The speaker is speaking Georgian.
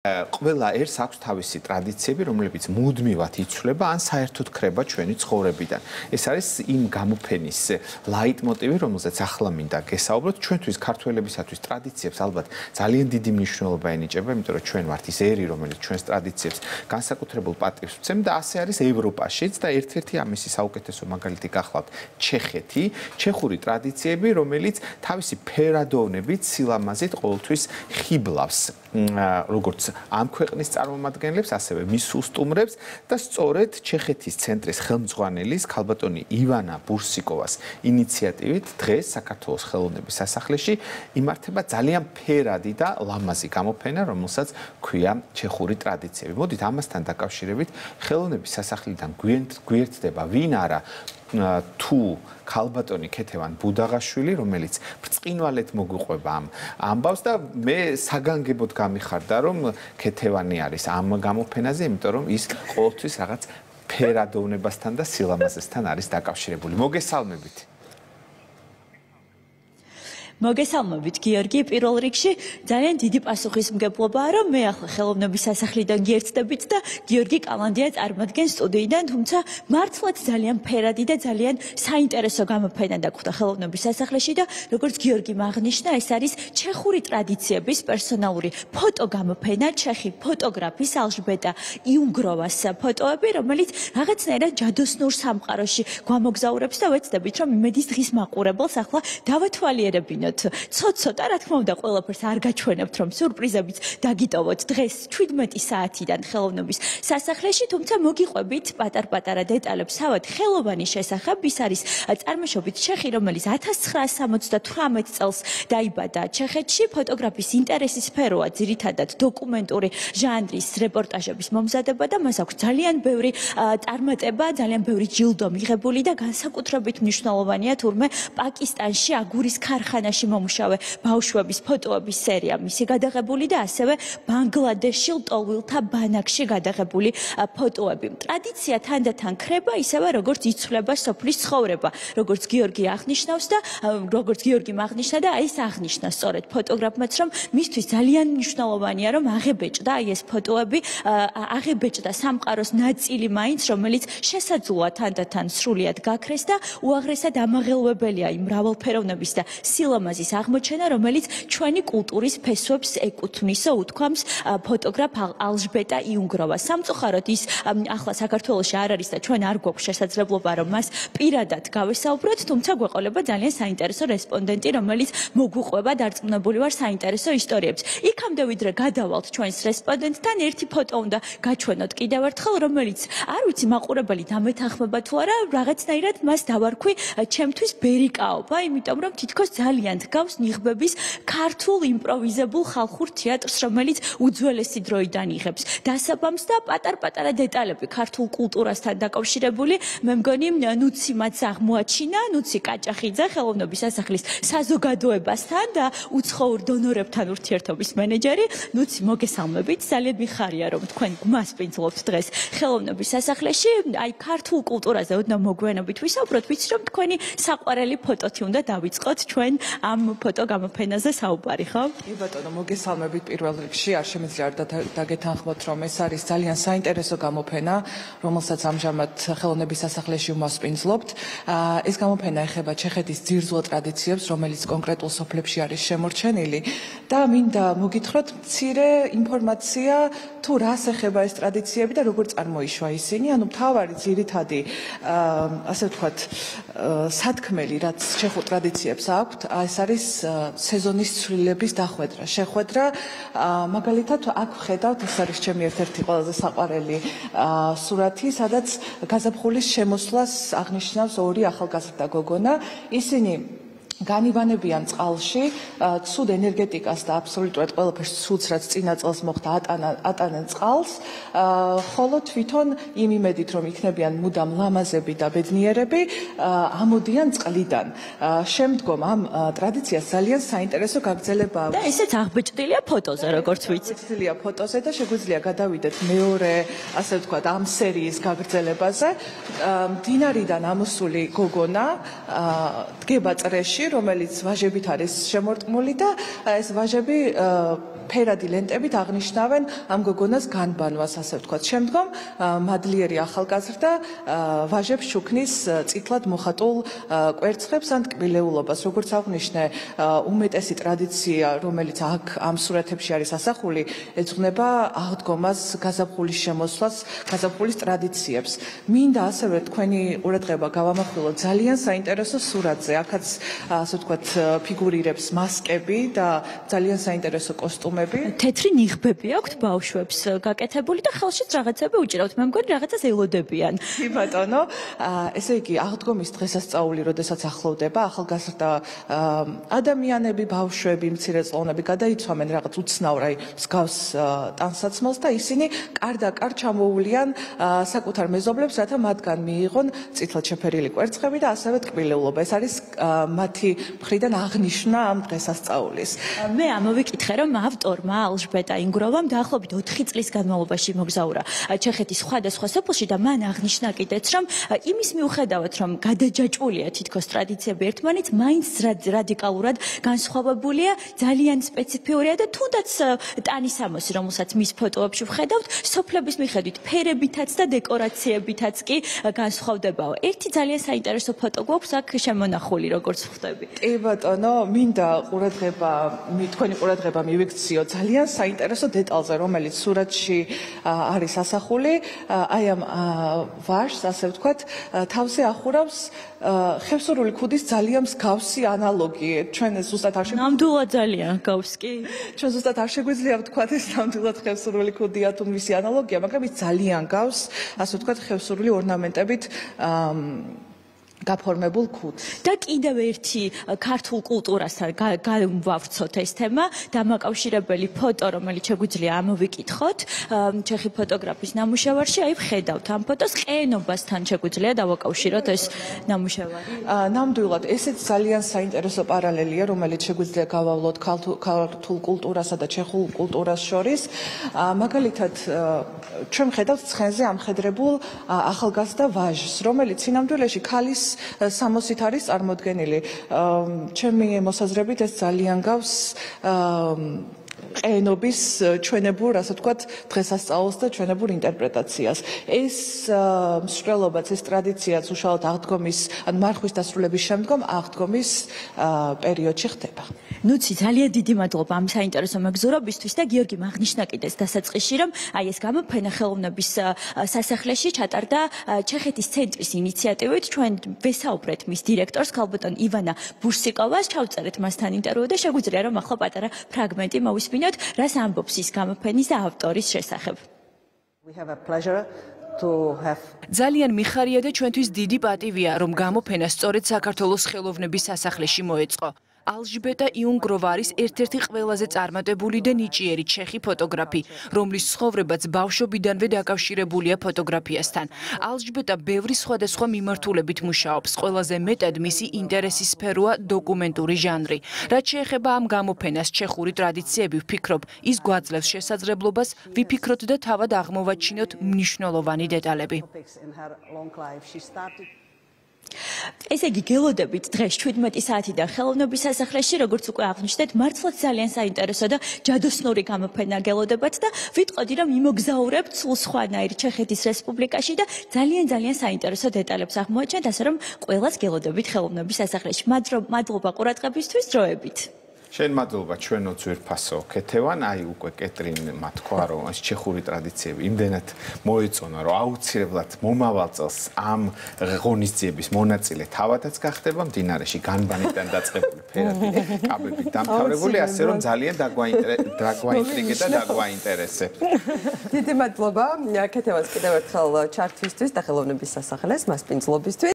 ყველა ერთს აქვს თავისი ტრადიციები, რომლებიც მუდმივად იცვლება ან საერთოდ ქრება ჩვენი ცხოვრებიდან. ეს არის იმ გამოფენის ლაიტმოტივი, რომელზეც ახლა მინდა გესაუბროთ. ჩვენთვის ქართველებისათვის ტრადიციებს ალბათ ძალიან დიდი მნიშვნელობა ენიჭება, იმიტომ რომ ჩვენ ვართ ის ერი, რომელიც ჩვენს ტრადიციებს განსაკუთრებულ პატივს ვცემ და ასე არის ევროპაშიც და ერთ-ერთი ამისი საუკეთესო მაგალითი გახლავთ ჩეხეთი, ჩეხური ტრადიციები, რომელიც თავისი ფერადოვნებით, სილამაზით ყოველთვის ხიბლავს როგორც ამ ქვეყნის წარმომადგენლებს, ასევე მის უსტუმრებს და სწორედ ჩეხეთის ცენტრის ხელმძღვანელის ქალბატონი ივანა ბურსიკოვას ინიციატივით დღეს საქართველოს ხელოვნების სასახლეში იმართება ძალიან ფერადი და ლამაზი გამოფენა, რომელსაც ქვია ჩეხური ტრადიციები. მოდით ამასთან დაკავშირებით ხელოვნების სასახლიდან გვერდდება ვინ არა თუ ქალბატონი ქეთევან ბუდაღაშვილი, რომელიც ბრწყინვალედ მოგვიყვება ამ ამბავს და მე საგანგებოდ გამიხარდა, რომ ქეთევანი არის ამ გამოფენაზე, იმიტომ რომ ის ყოველთვის რაღაც ფერადოვნებასთან და სილამაზესთან არის დაკავშირებული. მოგესალმებით. მოგესალმებით გიორგი, პირველ რიგში ძალიან დიდი პასუხისმგებლობაა, რომ მე ახლა ხელოვნების სასახლიდან გიერთდებით და გიორგი კალანდია წარმოგდგენს სტუდიიდან, თუმცა მართლაც ძალიან ფერადი და ძალიან საინტერესო გამოფენა დაგვხდა ხელოვნების სასახლეში და როგორც გიორგი აღნიშნა, ეს არის ჩეხური ტრადიციების პერსონალური ფოტოგამოფენა, ჩეხი ფოტოგრაფის ალჟბეტა იუნგროვას ფოტოები, რომელიც რაღაცნაირად ჯადოსნურ სამყაროში გვამოგზაურებს და ვეცდებით, რომ იმედის დღის მაყურებელს ახლა დავათვალიერებინოთ. ცოტ-ცოტა, რა თქმა უნდა, ყველაფერს არ გაჩვენებთ, რომ სურპრიზებიც დაგიტოვოთ დღეს 17 საათიდან ხელოვნების სასახლეში, თუმცა მოგიყვებით პატარ-პატარა დეტალებს თავად ხელოვანის შესახებ. ის არის წარმოშობით ჩეხი, რომელიც 1978 წელს დაიბადა ჩეხეთში. ფოტოგრაფის ინტერესის სფეროა ძირითადად დოკუმენტური ჟანრის რეპორტაჟების მომზადება და მას აქვს ძალიან ბევრი წარმატება, ძალიან ბევრი ჯილდო მიღებული და განსაკუთრებით მნიშვნელოვანია თურმე პაკისტანში აგურის ქარხანაში მომუშავე ბავშვების ფოტოების სერია მისი გადაღებული და ასევე ბანგლადეშში ლტოლვილთა ბანაკში გადაღებული ფოტოები. ტრადიცია თანდათან ქრება ისევე როგორც იცვლება სოფლის ცხოვრება, როგორც გიორგი აღნიშნავს და როგორც გიორგი აღნიშნა და აი ეს აღნიშნა სწორედ ფოტოგრაფმაც, რომ მისთვის ძალიან მნიშვნელოვანია რომ აღებეჭდა აი ეს ფოტოები, აღებეჭდა სამყაროს ნაწილი მაინც, რომელიც შესაძლოა თანდათან სრულიად გაქრეს და უაღრესად ამაღელვებელია იმ მრავალფეროვნების და სილამაზის აღმოჩენა, რომელიც ჩვენი კულტურის ფესვებს ეკუთვნისო, უთქვამს ფოტოგრაფ ალჟბეტა იუნგროვა. სამწუხაროდ ის ახლა საქართველოში არ არის და ჩვენ არ გვაქვს შესაძლებლობა რომ მას პირადად გავესაუბროთ, თუმცა გვეყოლება ძალიან საინტერესო რესპონდენტი, რომელიც მოგვიყვება, დარწმუნებული ვარ საინტერესო ისტორიებს. იქამდე ვიდრე გადავალთ ჩვენს რესპონდენტთან, ერთი ფოტო უნდა გაჩვენოთ კიდევ ერთხელ, რომელიც არ ვიცი მაყურებელი დამეთანხმება თუ არა, რაღაცნაირად მას დავარქვი ჩემთვის ბერიკაობა, იმიტომ რომ თითქოს ძალიან დგავს ნიღბების ქართულ იმპროვიზებულ ხალხურ თეატრს, რომელიც უძველესი დროიდან იღებს დასაბამს და პატარ-პატარა დეტალები ქართულ კულტურასთან დაკავშირებული. მე მგონი ნუცი მათ აღმოაჩინა, ნუცი კაჭახიძე ხელოვნების სასახლის საზოგადოებასთან და უცხოურ დონორებთან ურთიერთობის მენეჯერი. ნუცი, მოგესალმებით. ძალიან მიხარია რომ თქვენ გვასპინძლობთ დღეს ხელოვნების სასახლეში. აი ქართულ კულტურაზე ოდნავ მოგვიანებით ვისაუბროთ, ვიცი რომ თქვენი საყვარელი ფოტოთი უნდა დავიწყოთ ჩვენ ამ ფოტო გამოფენაზე საუბარი, ხო? კი ბატონო, მოგესალმებით პირველ რიგში. არ შემიძლია არ დაგეთანხმოთ, რომ ეს არის ძალიან საინტერესო გამოფენა, რომელსაც ამჟამად ხელოვნების სასახლეში ვმასპინძლობთ. ეს გამოფენა ეხება ჩეხეთის ძირძველ ტრადიციებს, რომელიც კონკრეტულ სოფლებში არის შემორჩენილი და მინდა მოგითხროთ მცირე ინფორმაცია თუ რას ეხება ეს ტრადიციები და როგორ წარმოიშვა ისინი. ანუ მთავარი ძირითადი ასე ვთქვათ სათქმელი, რაც ჩეხურ ტრადიციებს აქვთ, ეს არის სეზონის ცვლილების დახვედრა, შეხვედრა. მაგალითად, აქ ვხედავთ, ეს არის ჩემი ერთ-ერთი ყველაზე საყვარელი სურათი, სადაც გაზაფხულის შემოსვლას აღნიშნავს ორი ახალგაზრდა გოგონა. ისინი განივანებიან წყალში, ცუდ ენერგეტიკას და აბსოლუტურად ყველაფერს ცუდს, რაც წინა წელს მოხდა, ატანენ წყალს, ხოლო თვითონ იმ იმედით, რომ იქნებიან მუდამ ლამაზები და ბედნიერები, ამოდიან წყლიდან. შემდგომ ამ ტრადიციას ძალიან საინტერესო გაგრძელება აქვს. და ისეც აღბეჭდილია ფოტოზე, როგორც ვიცი. აღბეჭდილია ფოტოზე და შეგვიძლია გადავიდეთ მეორე, ასე ვთქვათ, ამ სერიის გაგრძელებაზე. მდინარიდან ამოსული გოგონა დგება წრეში, რომელიც ვაჟებით არის შემორტყმული და ეს ვაჟები ფერადი ლენტებით აღნიშნავენ ამ გოგონას განბანვას, ასე ვთქვათ. შემდგომ მადლიერი ახალგაზრდა ვაჟებს შუქნის წითლად მოხატულ კვერცხებს ან ტკბილეულობას. როგორც აღნიშნე, უმეტესი ტრადიცია, რომელიც აქ ამ სურათებში არის ასახული, ეძღვნება აღდგომას, გაზაფხულის შემოსვლას, გაზაფხულის ტრადიციებს. მინდა ასევე თქვენი ყურადღება გავამახვილოთ ძალიან საინტერესო სურათზე. აქაც, ასე ვთქვათ, ფიგურირებს მასკები და ძალიან საინტერესო კოსტუმები. თეთრი ნიღბები აქვთ ბავშვებს გაკეთებული და ხელშიც რაღაცები უჭირავთ. მე მგონი რაღაცას ელოდებიან. კი ბატონო, ესე იგი აღდგომის დღესასწაული, როდესაც ახლოვდება, ახალგაზრდა ადამიანები, ბავშვები, მცირეწლოვნები გადაიცვამენ რაღაც უცნაურ, აი მსგავს ტანსაცმელს და ისინი კარდაკარ ჩამოუვლიან საკუთარ მეზობლებს, რათა მათგან მიიღონ წითლად შეფერილი კვერცხები და ასევე ტკბილეულობა. ეს არის მათი მხრიდან აღნიშვნა ამ დღესასწაულის. მე ამოვიკითხე, რომ ავტორმა ალჟბეტა ინგროვამ დაახლოებით 4 წლის განმავლობაში მოგზაურა ჩეხეთის სხვადასხვა სოფელში და მან აღნიშნა კიდეც, რომ იმის მიუხედავად, რომ გადაჯაჭვულია თითქოს ტრადიციები ერთმანეთს, მაინც რადიკალურად განსხვავებულია, ძალიან სპეციფიურია და თუნდაც ტანისამოსი, რომელსაც მის ფოტოებში ვხედავთ, სოფლების მიხედვით ფერებითაც და დეკორაციებითაც კი განსხვავდებაო. ერთი ძალიან საინტერესო ფოტო გვაქვს აქ შემონახული, როგორც ხვდები. კი ბატონო, მინდა თქვენი ყურადღება მივიქციო ძალიან საინტერესო დეტალზე, რომელიც სურათში არის ასახული. აი ამ ვაჟს, ასე ვთქვათ, თავზე ახურავს ხევსურული ქუდის ძალიან მსგავსი ანალოგი. ჩვენ ზუსტად არ ნამდვილად ძალიან გავს კი. ჩვენ ზუსტად არ შეგვიძლია ვთქვათ ეს ნამდვილად ხევსურული ქუდია თუ მისი ანალოგია, მაგრამ ის ძალიან გავს, ასე ვთქვათ, ხევსურული ორნამენტებით გაფორმებულ ქუდს. და კიდევ ერთი ქართულ კულტურასთან გავავრცოთ ეს თემა, დამაკავშირებელი ფოტო, რომელიც შეგვიძლია ამოვიკითხოთ, ჩეხი ფოტოგრაფის ნამუშევარში, აი ვხედავთ ამ ფოტოს, ყენობასთან შეგვიძლია დავაკავშიროთ ეს ნამუშევარი. ნამდვილად, ესეც ძალიან საინტერესო პარალელია, რომელიც შეგვიძლია გავავლოთ ქართულ კულტურასა და ჩეხურ კულტურას შორის. მაგალითად, ჩვენ ვხედავთ ცხენზე ამხედრებულ ახალგაზრდა ვაჟს, რომელიც სინამდვილეში ქალის სამოსით არის წარმოდგენილი. ჩემი მოსაზრებით ეს ძალიან გავს ყენობის ჩვენებურ, ასე ვთქვათ, დღესასწაულს და ჩვენებურ ინტერპრეტაციას. ეს მსვლელობაც, ეს ტრადიციაც უშუალოდ აღდგომის, ან მარხვის დასრულების შემდგომ აღდგომის პერიოდში ხდება. ნუცი, ძალიან დიდი მადლობა ამ საინტერესო მეგზურობისთვის და გიორგი აღნიშნა კიდეც დასაწყისში, რომ აი ეს გამოფენა ხელოვნების სასახლეში ჩატარდა ჩეხეთის ცენტრის ინიციატივით. ჩვენ ვესაუბრეთ მის დირექტორს, ქალბატონ ივანა ბურსიკოვას, ჩავწერეთ მასთან ინტერვიუ და შეგვიძლია რომ ახლა პატარა ფრაგმენტი მოვისმინოთ, რას ამბობს ის გამოფენის და ავტორის შესახებ. ძალიან მიხარია და ჩვენთვის დიდი პატივია, რომ გამოფენა სწორედ საქართველოს ხელოვნების სასახლეში მოეწყო. ალჟბეტა იუნგროვა არის ერთ-ერთი ყველაზე წარმატებული და ნიჭიერი ჩეხი ფოტოგრაფი, რომლის ცხოვრებაც ბავშვობიდანვე დაკავშირებულია ფოტოგრაფიასთან. ალჟბეტა ბევრი სხვადასხვა მიმართულებით მუშაობს. ყველაზე მეტად მისი ინტერესის სფეროა დოკუმენტური ჟანრი. რაც შეეხება ამ გამოფენას ჩეხური ტრადიციები, ვფიქრობ, ის გვაძლევს შესაძლებლობას ვიფიქროთ და თავად აღმოვაჩინოთ მნიშვნელოვანი დეტალები. ესე იგი გელოდებით დღეს 17 საათიდან ხელოვნების სასახლეში, როგორც უკვე აღნიშნეთ, მართლაც ძალიან საინტერესო და ჯადოსნური გამოფენა გელოდებათ და ვიტყოდი, რომ იმოგზაურებთ სულ სხვანაირ ჩეხეთის რესპუბლიკაში და ძალიან საინტერესო დეტალებს აღმოაჩენთ, ასე რომ ყველას გელოდებით ხელოვნების სასახლეში. მადლობა ყურადღებისთვის, დროებით. შენ მადლობა ჩვენო ძვირფასო ქეთევან, აი უკვე კეტრინმა თქვა, რომ ეს ჩეხური ტრადიციები იმდენად მოეწონა, რომ აუცილებლად მომავალ წელს ამ ღონისძიების მონაწილე თავადაც გახდება მდინარეში განბანიდან დაწყებული ფერადი კაბებით დამთავრებული, ასე რომ ძალიან დაგვაინტრიგე და დაგვაინტერესებს. დიდი მადლობა ქეთევანს კიდევ ერთხელ ჩართვისთვის და ხელოვნების სასახლეს მასპინძლობისთვის.